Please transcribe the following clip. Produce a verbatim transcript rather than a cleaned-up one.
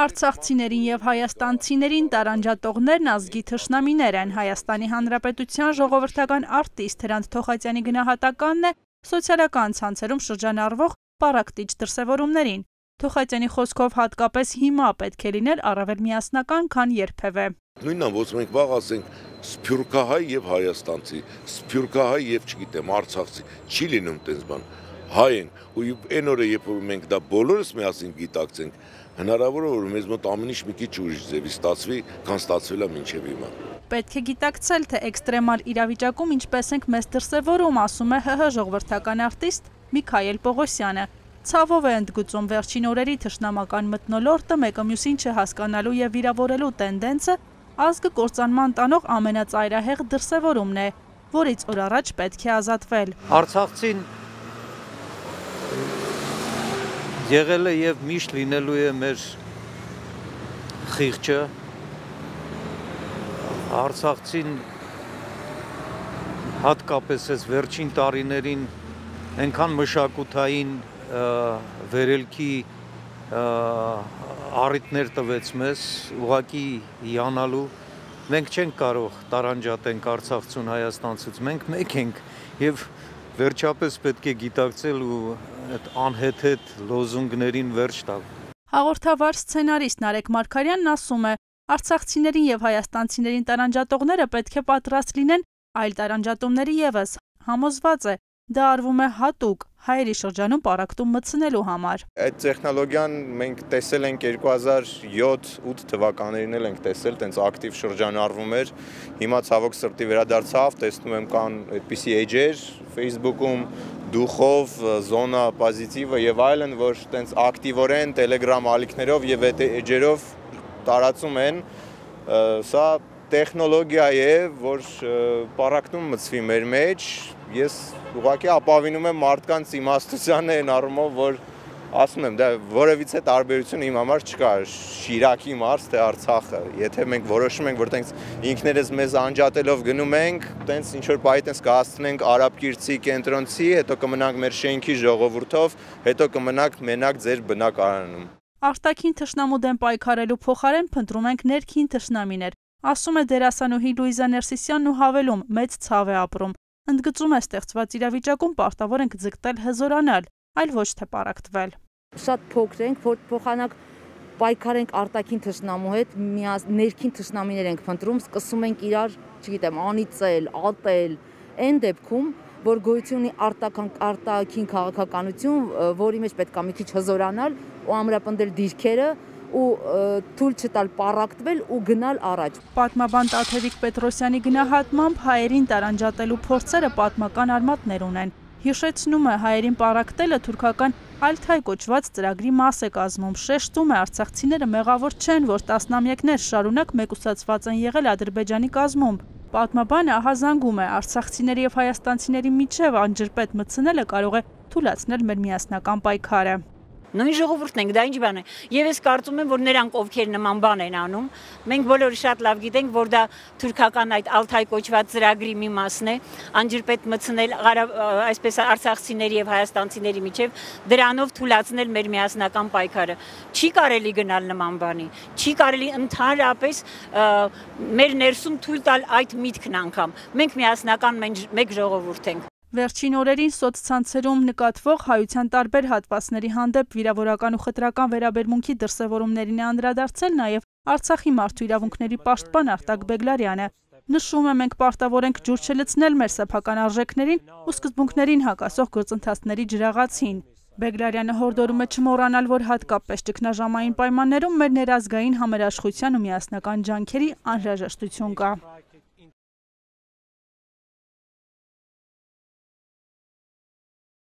Արցախցիներին և հայաստանցիներին տարանջատողներն ազգի թշնամիներ են։ Հայաստանի Հանրապետության ժողովրդական արտիստ Հրանտ Թոխատյանի գնահատականն է սոցիալական ցանցերում շրջանառվող պառակտիչ դրսևորումներին։ Թոխատյանի խոսքով հատկապես հիմա պետք է լինել առավել միասնական, քան երբևէ։ Նույնն ոնց մենք վաղ ասենք սփյուռքահայ եւ հայաստանցի, սփյուռքահայ եւ չգիտեմ արցախցի, չի լինում տես բան։ Հայ են ու այն օրը երբ որ մենք դա բոլորս միասին գիտակցենք, հնարավոր է որ մեզ մոտ ամեն ինչ մի քիչ ուրիշ ձևի ստացվի, քան ստացվել է մինչև հիմա։ Պետք է գիտակցել, թե էքստրեմալ իրավիճակում ինչպես ենք մեզ դրսևորում, ասում է ՀՀ ժողովրդական արտիստ Միքայել Պողոսյանը։ Ցավով է ընդգծում վերջին օրերի թշնամական մթնոլորտը մեկը մյուսին չհասկանալու եւ վիրավորելու տենդենսը ազգը կործանման տանող ամենածայրահեղ դրսևորումն է, որից օր առաջ պետք է ազատվել։ Արցախցին եղել է եւ միշտ լինելու է մեր խիղճը, արցախցին հատկապես այս վերջին տարիներին այնքան մշակութային վերելքի առիթներ տվեց մեզ, ուղղակի հիանալու, մենք չենք կարող տարանջատենք արցախցուն հայաստանցուց, մենք մեկ ենք եւ վերջապես պետք է գիտակցել ու այդ անհեթեթ լոզունգներին վերջ տալ։ Հաղորդավար սցենարիստ Նարեկ Մարգարյանն ասում է, արցախցիներին եւ հայաստանցիներին տարանջատողները պետք է պատրաստ լինեն այլ տարանջատումների եւս, համոզված է, դա արվում է հատուկ հայերի շրջանում պառակտում մտցնելու համար։ Այդ տեխնոլոգիան մենք տեսել ենք երկու հազար յոթ-ութ թվականներին էլ ենք տեսել, տենց ակտիվ շրջանառվում էր։ Հիմա ցավոք սրտի վերադարձավ, տեսնում եմ կան այդպիսի էջեր Facebook-ում, դուխով, զոնա պոզիտիվը եւ այլն, որ տենց ակտիվորեն Telegram ալիքներով եւ այդ էջերով տարածում են։ Սա տեխնոլոգիա է, որ պառակտում մտցվի մեր մեջ։ Ես ուղղակի ապավինում եմ մարդկանց իմաստությանը այն առումով, որ ասում եմ, դա որևիցե տարբերություն իմ համար չկա, Շիրակի մարզ, թե Արցախը։ Եթե մենք որոշում ենք, որ տենց ինքներս մեզ անջատելով գնում ենք, տենց ինչ որ պահի տենց կհասցնենք արաբկիրցի, կենտրոնցի, հետո կմնանք մեր շենքի ժողովուրդով, հետո կմնանք մենակ ձեր բնակարանում։ Արտաքին թշնամու դեմ պայքարելու փոխարեն փնտրում ենք ներքին թշնամիներ, ասում է դերասանուհի Լուիզա Ներսիսյանն ու հավելում, մեծ ցավ է ապրում։ Ընդգծում է ստեղծված իրավիճակում պարտավոր ենք ձգտել հզորանալ, այլ ոչ թե պառակտվել։ Շատ փոքր ենք, որ փոխանակ պայքարենք արտաքին թշնամու հետ, ներքին թշնամիներ ենք փնտրում, սկսում ենք իրար, չգիտեմ, անիծել, ատել, այն դեպքում, որ գոյություն ունի արտաքին քաղաքականություն, որի մեջ պետք է մի քիչ հզորանալ ու ամրապնդել դիրքերը ու թույլ չտալ պառակտվել ու գնալ առաջ։ Պատմաբան Տաթևիկ Պետրոսյանի գնահատմամբ հայերին տարանջատելու փորձերը պատմական արմատներ ունեն։ Հիշեցնում է, հայերին պառակտելը թուրքական Ալթայ կոչված ծրագրի մաս է կազմում, շեշտում է արցախցիները մեղավոր չեն, որ տասնամյակներ շարունակ մեկուսացված են եղել Ադրբեջանի կազմում։ Պատմաբանը ահազանգում է, արցախցիների եւ հայաստանցիների միջև անջրպետ մտցնելը կարող է թուլացնել մեր միասնական պայքարը։ Նույն ժողովուրդն ենք, դա ինչ բան է։ Եվ ես կարծում եմ, որ նրանք ովքեր նման բան են անում, մենք բոլորը շատ լավ գիտենք, որ դա թուրքական այդ Ալթայ կոչված ծրագրի մի մասն է, անջրպետ մտցնել այսպես արցախցիների եւ հայաստանցիների միջև, դրանով թուլացնել մեր միասնական պայքարը։ Չի կարելի գնալ նման բանի, չի կարելի ընդհանրապես մեր ներսում թույլ տալ այդ միտքն անգամ։ Մենք միասնական մեկ ժողովուրդ ենք։ Վերջին օրերին սոցցանցերում նկատվող հայության տարբեր հատվածների հանդեպ վիրավորական ու խտրական վերաբերմունքի դրսևորումներին է անդրադարձել նաև Արցախի մարդու իրավունքների պաշտպան Արտակ Բեգլարյանը։ Նշում է, մենք պարտավոր ենք ջուր չլցնել մեր սեփական արժեքներին ու սկզբունքներին հակասող գործընթացների ջրաղացին։ Բեգլարյանը հորդորում է չմոռանալ, որ հատկապես ճգնաժամային պայմաններում մեր ներազգային համերաշխության ու միասնական ջանքերի անհրաժեշտություն կա։